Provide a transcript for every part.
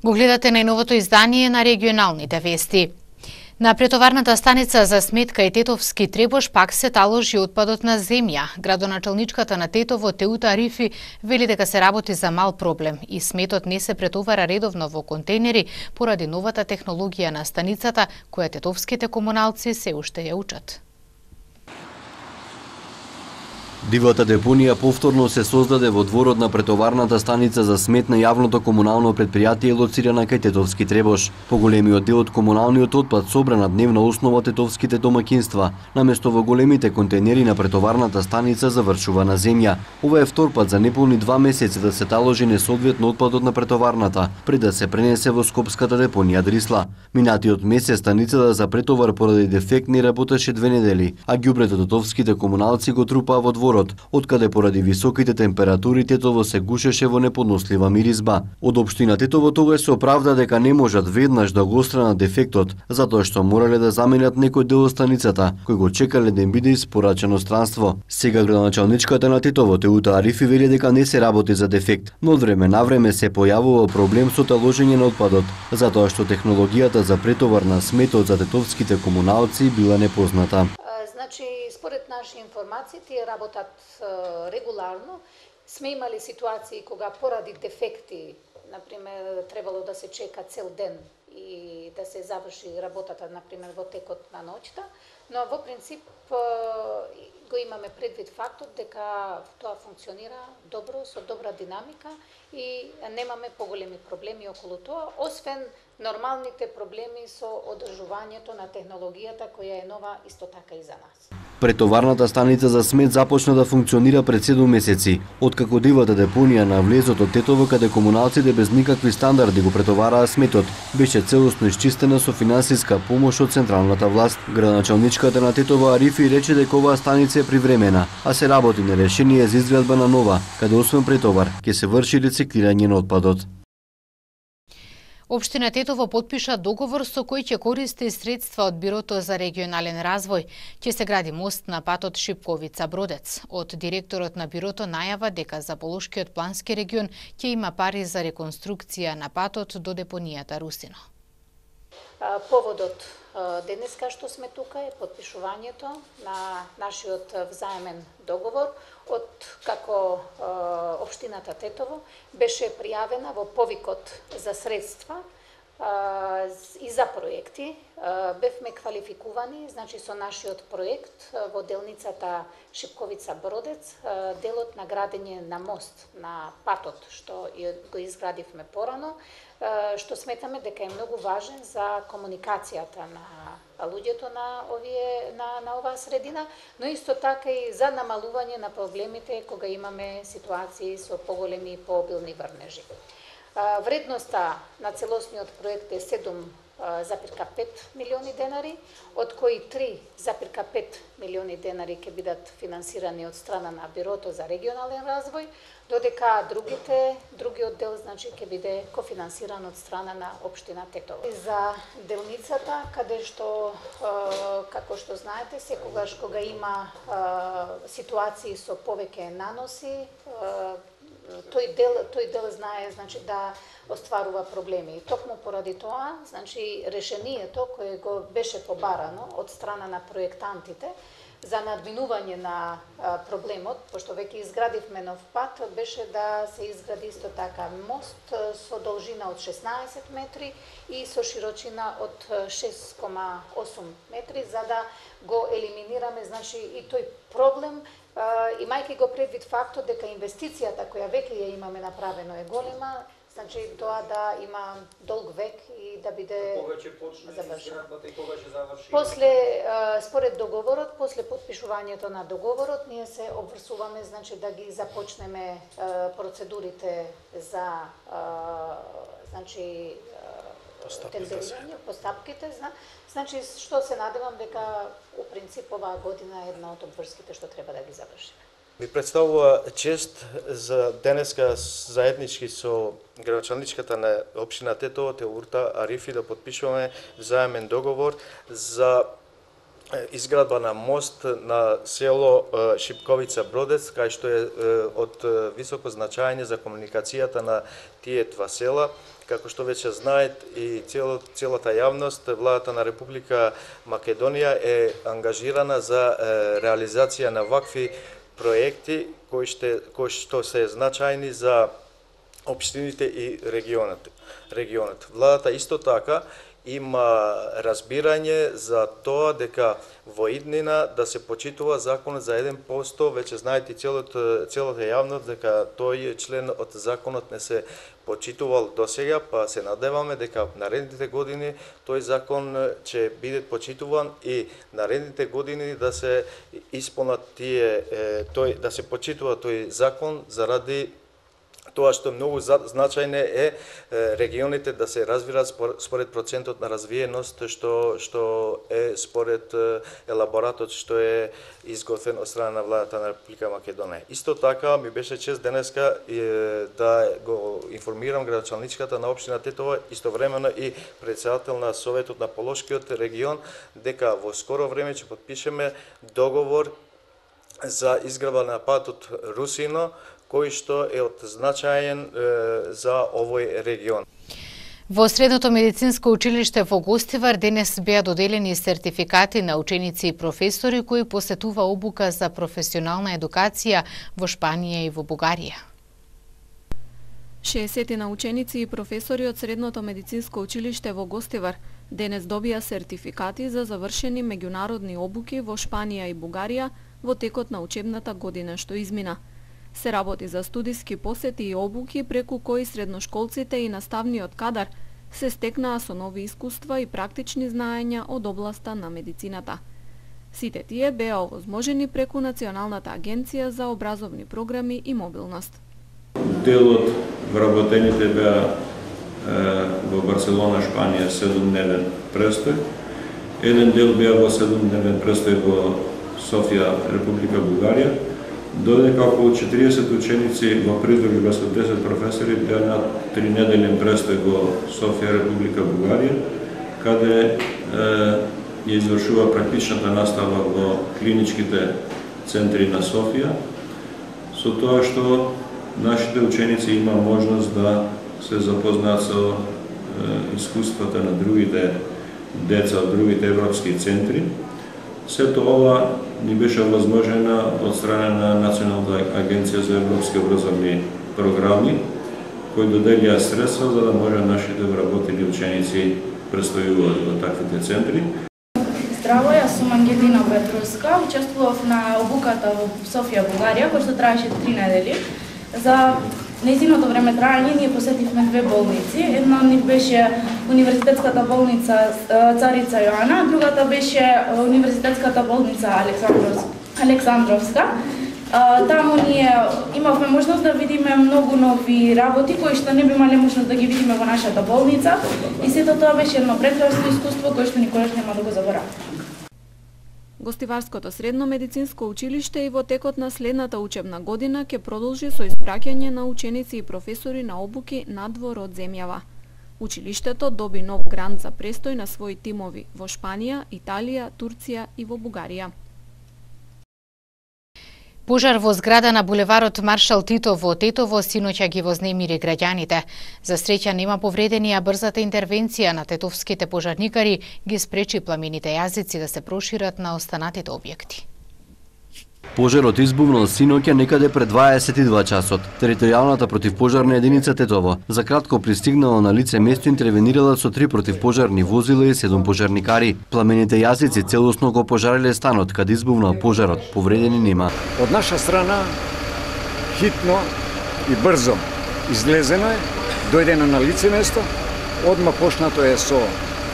Го гледате најновото издание на регионалните вести. На претоварната станица за смет кај Тетовски Требош пак се таложи отпадот на земја. Градоначалничката на Тетово Теута Арифи вели дека се работи за мал проблем и сметот не се претовара редовно во контейнери поради новата технологија на станицата која тетовските комуналци се уште ја учат. Дивата депонија повторно се создаде во дворот на претоварната станица за смет на јавното комунално претпријатие лоцирана кај Тетовски Требош. Поголемиот дел од комуналниот отпад собра на дневна основа тетовските домакинства, наместо во големите контейнери на претоварната станица завршува на земја. Ова е втор пат за неполни 2 месеци да се таложи несоодветно отпадот на претоварната, пред да се пренесе во скопската депонија Дрисла. Минатиот месец станицата за претовар поради дефект не работеше 2 недели, а ѓубрето тетовските комуналци го трупаа во дворот, откаде поради високите температури Тетово се гушеше во неподнослива миризба. Од општина Тетово тогаш се оправда дека не можат веднаш да го отстранат дефектот, затоа што морале да заменат некој дел од станицата, кој го чекале да им биде испорачено странство. Сега градоначалничката на Тетово Теута Арифи вели дека не се работи за дефект, но од време на време се појавува проблем со таложење на отпадот, затоа што технологијата за претовар на сметот за тетовските комуналци била непозната. Значи, според наши информации, тие работат регуларно. Сме имали ситуации кога поради дефекти, например, требало да се чека цел ден и да се заврши работата, например, во текот на ноќта, но во принцип го имаме предвид фактот дека тоа функционира добро, со добра динамика и немаме поголеми проблеми околу тоа, освен нормалните проблеми со одржувањето на технологијата која е нова исто така и за нас. Претоварната станица за смет започна да функционира пред 7 месеци, откако дивата депонија на влезот од Тетово каде комуналците без никакви стандарди го претовараа сметот, беше целосно исчистена со финансиска помош од централната власт. Градоначалничката на Тетово Арифи рече дека оваа станица е привремена, а се работи на решение за изградба на нова, каде освен претовар ќе се врши рециклирање на отпадот. Општина Тетово потпиша договор со кој ќе користи средства од Бирото за регионален развој. Ќе се гради мост на патот Шипковица-Бродец. Од директорот на Бирото најава дека за Полошкиот плански регион ќе има пари за реконструкција на патот до депонијата Русино. Поводот денеска што сме тука е потпишувањето на нашиот взаемен договор од како општината Тетово беше пријавена во повикот за средства и за проекти. Бевме квалификувани, значи со нашиот проект во делницата Шипковица-Бродец, делот на градење на мост на патот што го изградивме порано, што сметаме дека е многу важен за комуникацијата на луѓето на оваа средина, но исто така и за намалување на проблемите кога имаме ситуации со поголеми и пообилни врнежи. Вредноста на целосниот проект е 7,5 милиони денари, од кои 3,5 милиони денари ќе бидат финансирани од страна на Бирото за регионален развој, додека другиот дел значи ќе биде кофинансиран од страна на општина Тетово. За делницата, каде што како што знаете, секогаш кога има ситуации со повеќе наноси, тој дел знае значи да остварува проблеми. И токму поради тоа, значи решението кое го беше побарано од страна на проектантите за надминување на проблемот, пошто веќе изградивме нов пат, беше да се изгради исто така мост со должина од 16 метри и со широчина од 6,8 метри, за да го елиминираме значи и тој проблем, имајќи го предвид фактот дека инвестицијата која веќе ја имаме направено е голема, значи тоа да има долг век и да биде завршено. После според договорот, после потпишувањето на договорот, ние се обврсуваме значи да ги започнеме процедурите за значи тендерирање, постапките, значи што се надевам дека у принцип оваа година е една од обврските што треба да ги завршиме. Ми представува чест за денеска заеднички со градоначалничката на општина Тетово Теута Арифи да потпишуваме заемен договор за изградба на мост на село Шипковица-Бродец, кај што е од високо значање за комуникацијата на тие два села, како што веќе знаат и целата јавност, владата на Република Македонија е ангажирана за реализација на вакви проекти кои што се значајни за општините и регионот. Владата исто така има разбирање за тоа дека во иднина да се почитува законот за 1%, веќе знаете целата јавност дека тој член од законот не се почитувал досега, па се надеваме дека наредните години тој закон ќе биде почитуван и наредните години да се исполнат да се почитува тој закон заради тоа што многу значајно е регионите да се развиваат според процентот на развиеност што е според елаборатот што е изготвен од страна на владата на Република Македонија. Исто така ми беше чест денеска да го информирам градоначалничката на општина Тетово, истовремено и председател на Советот на Полошкиот регион, дека во скоро време ќе потпишеме договор за изградба на патот Русино, кој што е од значаен за овој регион. Во Средното медицинско училиште во Гостивар денес беа доделени сертификати на ученици и професори кои посетува обука за професионална едукација во Шпанија и во Бугарија. 60 на ученици и професори од Средното медицинско училиште во Гостивар денес добија сертификати за завршени меѓународни обуки во Шпанија и Бугарија во текот на учебната година што измина. Се работи за студиски посети и обуки преку кои средношколците и наставниот кадар се стекнаа со нови искуства и практични знаења од областа на медицината. Сите тие беа овозможени преку Националната агенција за образовни програми и мобилност. Дел од вработените беа во Барселона, Шпанија, 7-дневен престој. Еден дел беа во 7-дневен престој во Софија, Република Бугарија, додека околу 40 ученици во придружба со 10 професори беа на 3-неделен престој во Софија, Република Бугарија, каде ја извршува практичната настава во клиничките центри на Софија, со тоа што нашите ученици има можност да се запознаат со искуствата на другите деца од другите европски центри. Сето ова ни беше возможено од страна на Националната агенција за европски образовни програми, кои доделија средства за да може нашите вработени ученици престојуваат во таквите центри. Здраво, јас сум Ангелина Петровска, учествував на обуката во Софија, Бугарија, која што траеше 3 недели. За нејзиното време траење ние посетивме 2 болници. Една од нив беше Универзитетската болница Царица Јоана, другата беше Универзитетската болница Александровска. Таму ние имавме можност да видиме многу нови работи кои што не би имале можност да ги видиме во нашата болница и сето тоа беше едно прекрасно искуство кое што никогаш нема да го забораваме. Гостиварското средно медицинско училиште и во текот на следната учебна година ќе продолжи со испраќање на ученици и професори на обуки надвор од земјава. Училиштето доби нов грант за престој на своји тимови во Шпанија, Италија, Турција и во Бугарија. Пожар во зграда на булеварот Маршал Тито во Тетово синоќа ги вознемири граѓаните. За среќа нема повредени, а брзата интервенција на тетовските пожарникари ги спречи пламените јазици да се прошират на останатите објекти. Пожарот избувнал синоќа некаде пред 22 часот. Територијалната противпожарна единица Тетово за кратко пристигнала на лице место, интервенирала со 3 противпожарни возила и 7 пожарникари. Пламените јазици целосно го пожариле станот каде избувнал пожарот. Повредени нема. Од наша страна хитно и брзо излезено е, дојдено на лице место, одма почнато е со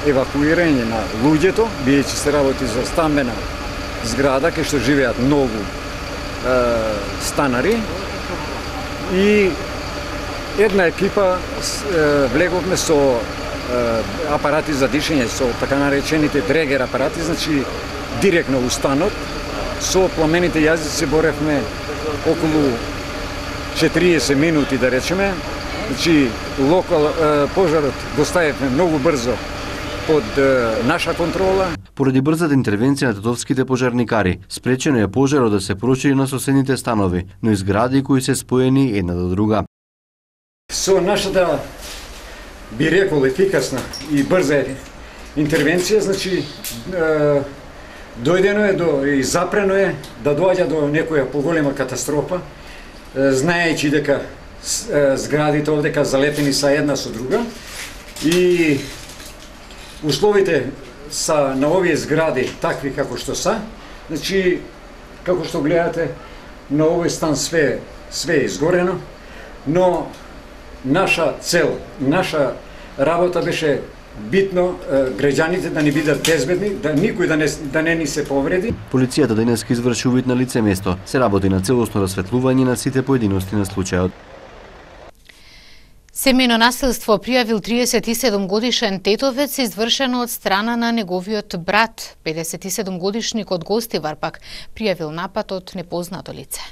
евакуирање на луѓето, биејќи се работи за стамбена зграда кај што живеат многу станари и една екипа влеговме со апарати за дишење, со така наречените дрегер апарати, значи директно у станот. Со пламените јазици се боревме околу 40 минути, да речеме. Значи пожарот го ставивме многу брзо под наша контрола. Поради брзата интервенција на тетовските пожарникари, спречено е пожарот да се прошири на соседните станови, но и згради кои се споени една до друга. Со нашата би рекол ефикасна и брза интервенција, значи дојдено е и запрено е да доаѓа до некоја поголема катастрофа, знаејќи дека зградите овдека залепени са една со друга и условите са на овие згради такви како што са. Значи, како што гледате, на овој стан све е изгорено, но наша цел, наша работа беше битно граѓаните да не бидат безбедни, да никој да не ни се повреди. Полицијата денеска изврши увид на лице место. Се работи на целосно расветлување на сите поединости на случајот. Семејно насилство пријавил 37 годишен тетовец извршено од страна на неговиот брат. 57 годишник од Гостивар пак пријавил напад од непознато лице.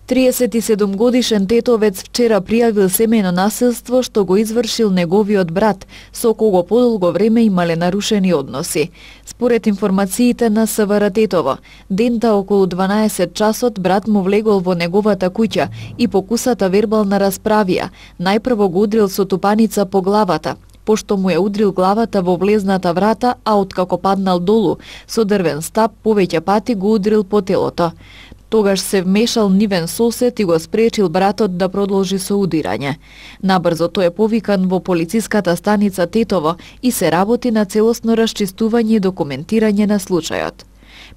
37 годишен тетовец вчера пријавил семејно насилство што го извршил неговиот брат, со кого подолго време имале нарушени односи. Според информациите на СВР Тетово, дента околу 12 часот брат му влегол во неговата куќа и покусата вербална расправија. Најпрво го удрил со тупаница по главата, пошто му ја удрил главата во влезната врата, а откако паднал долу, со дрвен стап повеќе пати го удрил по телото. Тогаш се вмешал нивен сосед и го спречил братот да продолжи со удирање. Набрзо тој е повикан во полициската станица Тетово и се работи на целосно расчистување и документирање на случајот.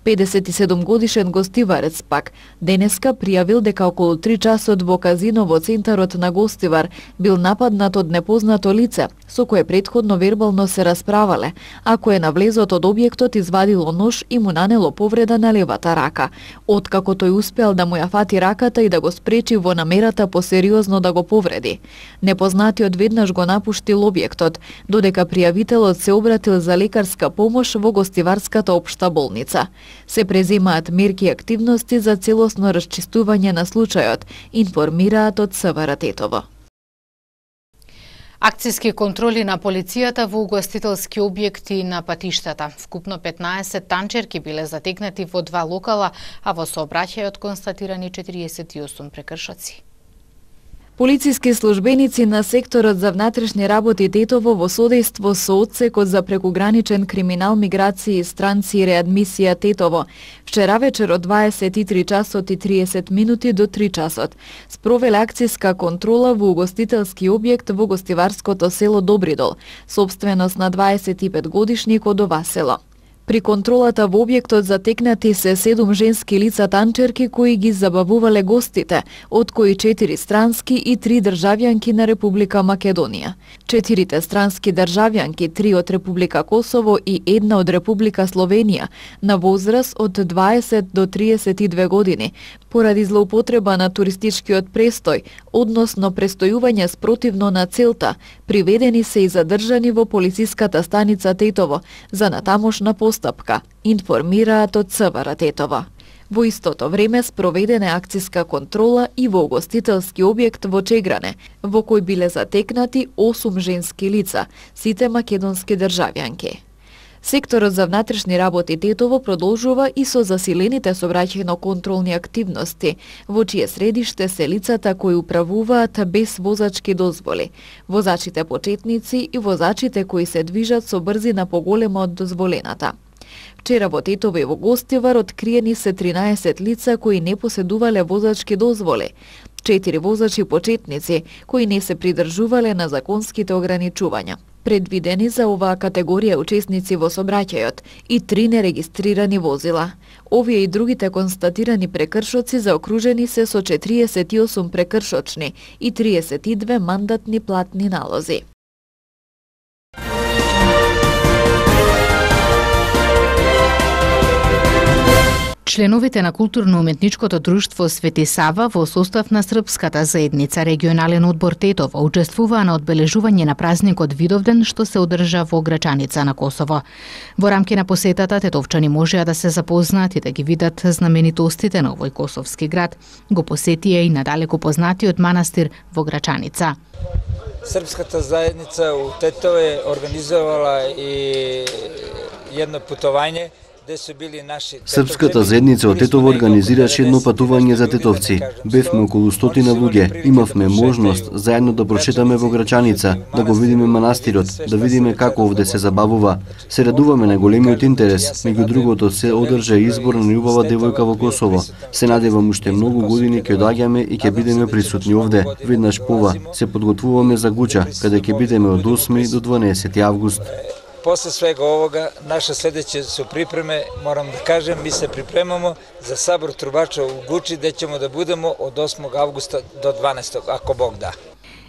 57 годишен гостиварец пак денеска пријавил дека околу 3 часот во казино во центарот на Гостивар бил нападнат од непознато лице, со кое претходно вербално се расправале, а кое на влезот од објектот извадило нож и му нанело повреда на левата рака. Откако тој успеал да му ја фати раката и да го спречи во намерата посериозно да го повреди. Непознатиот веднаш го напуштил објектот, додека пријавителот се обратил за лекарска помош во Гостиварската општа болница. Се преземаат мерки и активности за целосно расчистување на случајот, информираат од СВР Тетово. Акцијски контроли на полицијата во угостителски објекти на патиштата. Вкупно 15 танчерки биле затекнати во 2 локала, а во сообраќајот констатирани 48 прекршоци. Полициски службеници на секторот за внатрешни работи Тетово во содејство со одсекот за прекуграничен криминал, миграција, странци и реадмисија Тетово вчера вечер од 23 часот и 30 минути до 3 часот спровеле акцијска контрола во угостителски објект во гостиварското село Добридол, сопственост на 25 годишник од ова село. При контролата во објектот затекнати се 7 женски лица танчерки кои ги забавувале гостите, од кои 4 странски и 3 државјанки на Република Македонија. 4 странски државјанки, 3 од Република Косово и 1 од Република Словенија, на возраст од 20 до 32 години, поради злоупотреба на туристичкиот престој, односно престојување спротивно на целта, приведени се и задржани во полициската станица Тетово за натамошна постапка, информираат од СВР Тетово. Во истото време спроведена акцијска контрола и во угостителски објект во Чегране, во кој биле затекнати 8 женски лица, сите македонски државјанки. Секторот за внатрешни работи Тетово продолжува и со засилените сообраќајно-контролни активности, во чие средиште се лицата кои управуваат без возачки дозволи, возачите почетници и возачите кои се движат со брзина поголема од дозволената. Вчера во Тетово и во Гостивар откриени се 13 лица кои не поседувале возачки дозволи, 4 возачи почетници кои не се придржувале на законските ограничувања, предвидени за оваа категорија учесници во сообраќајот, и 3 нерегистрирани возила. Овие и другите констатирани прекршоци заокружени се со 48 прекршочни и 32 мандатни платни налози. Членовите на културно-уметничкото друштво Свети Сава во состав на Српската заедница регионален одбор Тетово учествуваа на одбележување на празникот Видовден што се одржа во Грачаница на Косово. Во рамки на посетата тетовчани можеа да се запознаат и да ги видат знаменитостите на овој косовски град. Го посетија и надалеку познатиот манастир во Грачаница. Српската заедница у Тетово е организовала и едно путување Српската заедница од Тетово организираше едно патување за тетовци. Бевме околу 100 луѓе. Имавме можност заедно да прочитаме во Грачаница, да го видиме манастирот, да видиме како овде се забавува. Се радуваме на големиот интерес. Меѓу другото се одржа избор на најубава девојка во Косово. Се надевам уште многу години ќе доаѓаме и ќе бидеме присутни овде. Веднаш пова се подготвуваме за Гуча, каде ќе бидеме од 8 до 12 август. После свега овога, наша следеće su pripreme, moram da kažem, mi se pripremamo za sabor trubača u Guči, gde ćemo da budemo od 8. avgusta do 12. ako Bog da.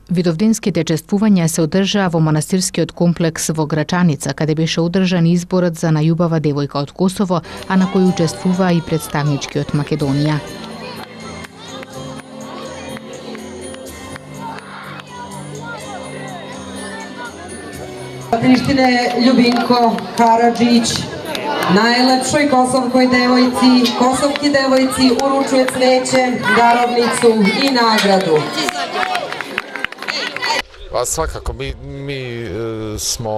Видовденските чествувања се одржаа во манастирскиот комплекс во Грачаница, каде беше одржан изборот за најубава девојка од Косово, а на кој учествува и представнички од Македонија. Prištine Ljubinko Karadžić, najlepšoj kosovkoj devojci, kosovki devojci uručuje cveće, darovnicu i nagradu. Svakako, mi smo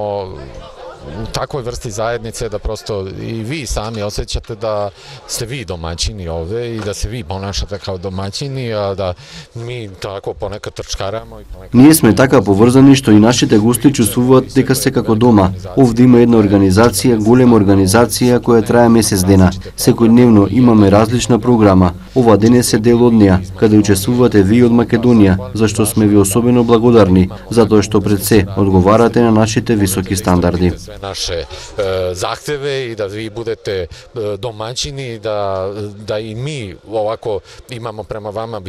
u takvoj vrsti zajednice da prosto i vi sami osjećate da ste vi domaćini ovde i da se vi ponašate kao domaćini, a da mi tako ponekad трчкарamo и понекад... Ние сме така поврзани што и нашите гости чувствуваат дека се како дома. Овде има една организација, голема организација која трае месец дена. Секојдневно имаме различна програма. Ова денес е дел од неа, каде учествувате ви од Македонија, зашто сме ви особено благодарни, затоа што пред се одговарате на нашите високи стандарди. Naše zahteve i da vi budete domaćini, da i mi ovako imamo prema vama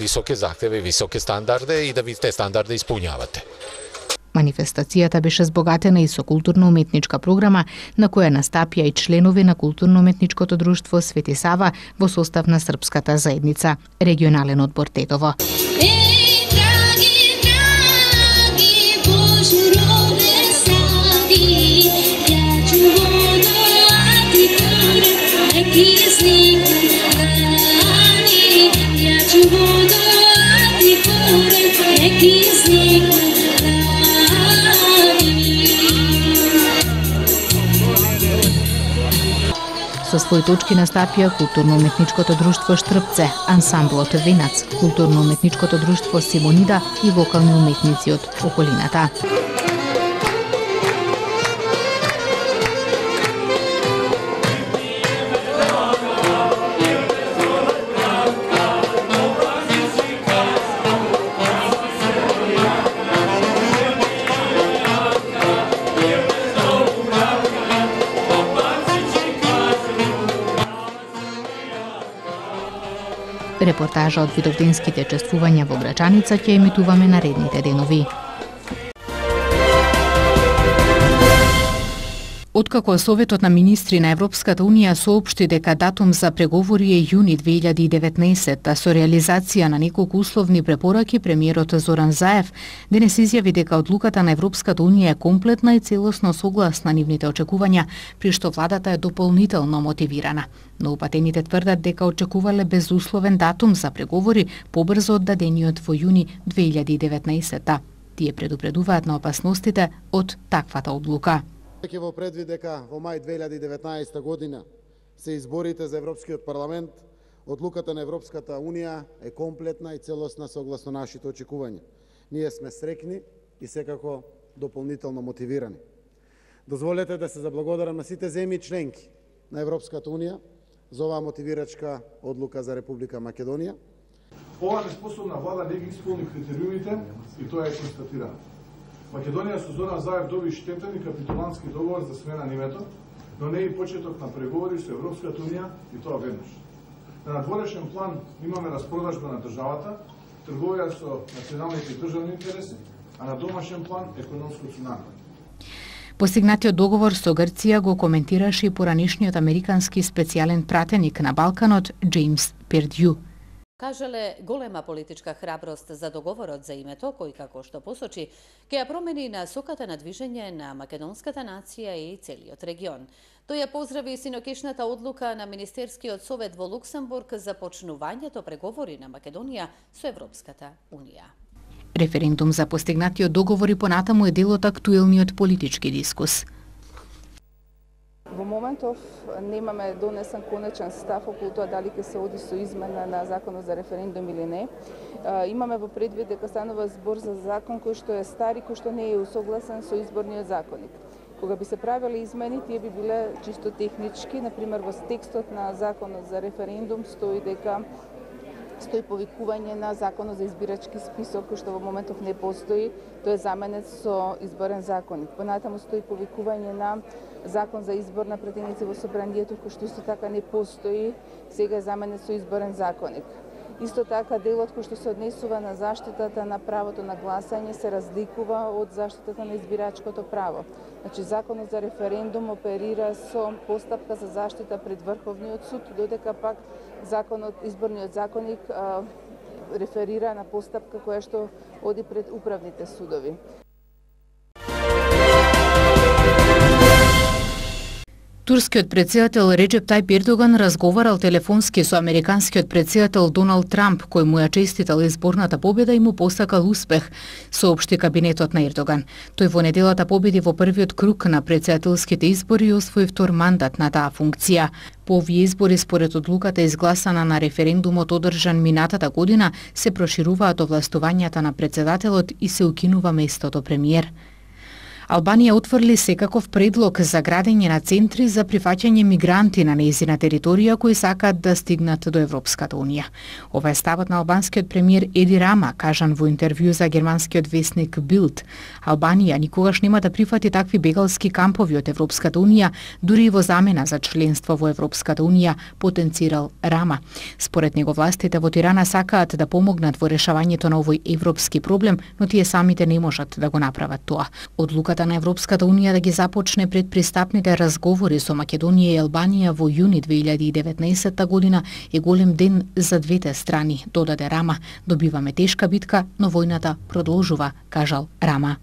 visoke zahteve i visoke standarde i da vi te standarde ispunjavate. Манифестацијата беше збогатена и со културно-уметничка програма, на која настапија и членови на културно-уметничкото друштво Свети Сава во состав на Српската заедница, регионален одбор Тетово. Со своји точки настапија културно-уметничкото друштво Штрпце, ансамблот Венац, културно-уметничкото друштво Симонида и вокални уметници од околината. Репортажа од видовденските чествувања во Грачаница ќе емитуваме наредните денови. Откако Советот на министри на Европската Унија соопшти дека датум за преговори е јуни 2019, со реализација на неколку условни препораки, премиерот Зоран Заев денес изјави дека одлуката на Европската Унија е комплетна и целосно согласна нивните очекувања, при што владата е дополнително мотивирана. Но упатените тврдат дека очекувале безусловен датум за преговори побрзо од дадениот во јуни 2019. Тие предупредуваат на опасностите од таквата одлука. Ќе во предвид дека во мај 2019 година се изборите за Европскиот парламент, одлуката на Европската Унија е комплетна и целосна согласно нашите очекувања. Ние сме срекни и секако дополнително мотивирани. Дозволете да се заблагодарам на сите земји членки на Европската Унија за оваа мотивирачка одлука за Република Македонија. Ова неспособна влада не ги исполни критериумите и тоа е констатирано. Македонија со Зоран Заев доби штетен и капитулантски договор за смена на името, но не и почеток на преговори со Европската Унија и тоа веднаш. На надворешен план имаме распродажба на државата, трговија со националните државни интереси, а на домашен план економско цунами. Постигнатиот договор со Грција го коментираше и поранишниот американски специјален пратеник на Балканот Джеймс Пердју. Кажале голема политичка храброст за договорот за името, кој како што посочи, ќе ја промени насоката на движење на македонската нација и целиот регион. Тој ја поздрави синокешната одлука на Министерскиот совет во Луксембург за почнувањето преговори на Македонија со Европската Унија. Референдум за постигнатиот договор и понатаму е дел од актуелниот политички дискус. Во моментов немаме донесен конечен став околу тоа дали ќе се оди со измена на законот за референдум или не. Имаме во предвид дека станува збор за закон кој што е стар и кој што не е усогласен со изборниот законник. Кога би се правеле измени, тие би биле чисто технички, например во текстот на законот за референдум стои повикување на законот за избирачки список, кој што во моментов не постои, тој е заменет со изборен законник. Понатаму стои повикување на закон за избор на претеници во собранието, кој што исто така не постои, сега е заменет со изборен законник. Исто така делот кој што се однесува на заштитата на правото на гласање се разликува од заштитата на избирачкото право. Значи законот за референдум оперира со постапка за заштита пред Врховниот суд, додека пак изборниот законник реферира на постапка која што оди пред управните судови. Турскиот претседател Реджеп Тајип Ердоган разговарал телефонски со американскиот претседател Доналд Трамп, кој му ја честитал изборната победа и му посакал успех, соопшти кабинетот на Ердоган. Тој во неделата победи во првиот круг на претседателските избори и освои втор мандат на таа функција. По овие избори, според одлуката изгласана на референдумот одржан минатата година, се прошируваат овластувањата на претседателот и се укинува местото премиер. Албанија отфрли секаков предлог за градење на центри за прифаќање мигранти на нејзина територија кои сакаат да стигнат до Европската унија. Ова е ставот на албанскиот премиер Еди Рама, кажан во интервју за германскиот весник Билд. Албанија никогаш нема да прифати такви бегалски кампови од Европската унија, дури и во замена за членство во Европската унија, потенцирал Рама. Според него властите во Тирана сакаат да помогнат во решавањето на овој европски проблем, но тие самите не можат да го направат тоа. Одлуката на Европската унија да ги започне предпристапните разговори со Македонија и Албанија во јуни 2019 година е голем ден за двете страни, додаде Рама. Добиваме тешка битка, но војната продолжува, кажал Рама.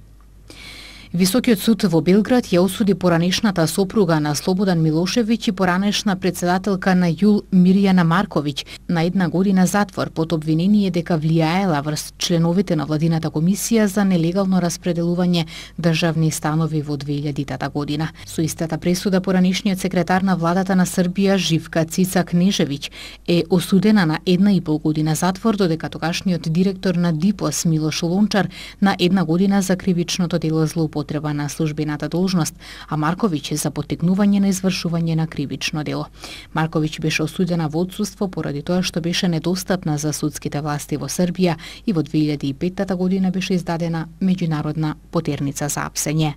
Високиот суд во Белград ја осуди поранешната сопруга на Слободан Милошевиќ и поранешна претседателка на ЈУЛ Мирјана Марковиќ на 1 година затвор под обвинение дека влијаела врз членовите на владината комисија за нелегално распределување државни станови во 2000 година. Со истата пресуда поранешниот секретар на владата на Србија Живка Цица Кнежевиќ е осудена на 1,5 година затвор, додека тогашниот директор на ДИПОС Милош Лончар на 1 година за кривичното дело злоупотреба на службената должност, а Марковиќ за поттикнување на извршување на кривично дело. Марковиќ беше осудена во отсуство поради тоа што беше недостапна за судските власти во Србија и во 2005 година беше издадена меѓународна потерница за апсење.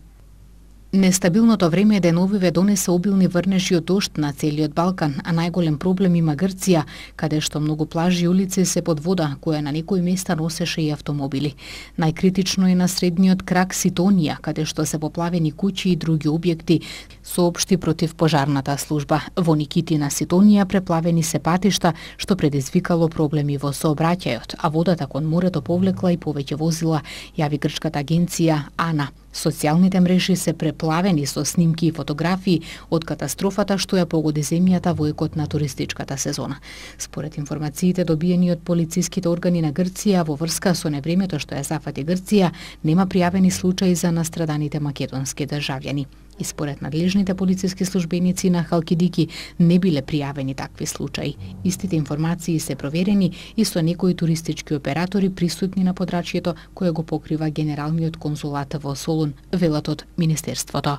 Нестабилното време деновиве донесе обилни врнежи од дожд на целиот Балкан, а најголем проблем има Грција, каде што многу плажи и улици се под вода, која на некои места носеше и автомобили. Најкритично е на средниот крак Ситонија, каде што се поплавени куќи и други објекти, соопшти противпожарната служба. Во Никитина Ситонија преплавени се патишта, што предизвикало проблеми во сообраќајот, а водата кон морето повлекла и повеќе возила, јави грчката агенција АНА. Социјалните мрежи се преплавени со снимки и фотографии од катастрофата што ја погоди земјата во екот на туристичката сезона. Според информациите добиени од полициските органи на Грција во врска со невремето што ја зафати Грција, нема пријавени случаи за настраданите македонски државјани. И според надлежните полициски службеници на Халкидики не биле пријавени такви случаи. Истите информации се проверени и со некои туристички оператори присутни на подрачјето кое го покрива Генералниот конзулат во Солун, велат од Министерството.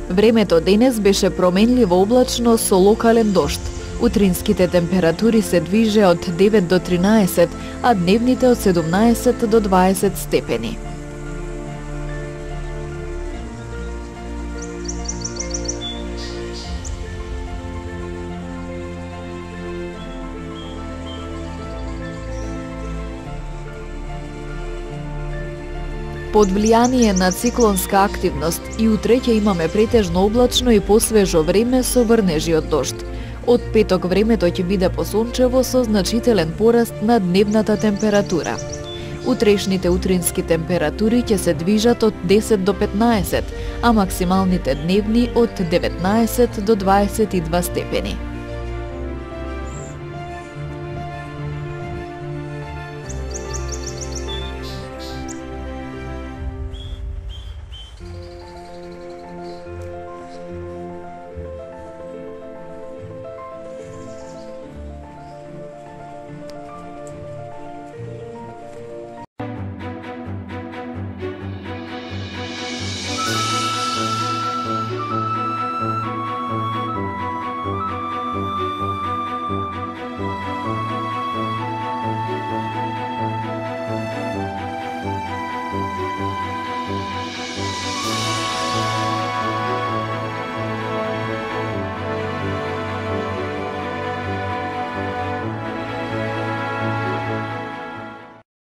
Времето денес беше променливо облачно со локален дожд. Утринските температури се движе од 9 до 13, а дневните од 17 до 20 степени. Под влијание на циклонска активност и утре ќе имаме претежно облачно и посвежо време со врнежи од дожд. Од петок времето ќе биде посончево со значителен пораст на дневната температура. Утрешните утрински температури ќе се движат од 10 до 15, а максималните дневни од 19 до 22 степени.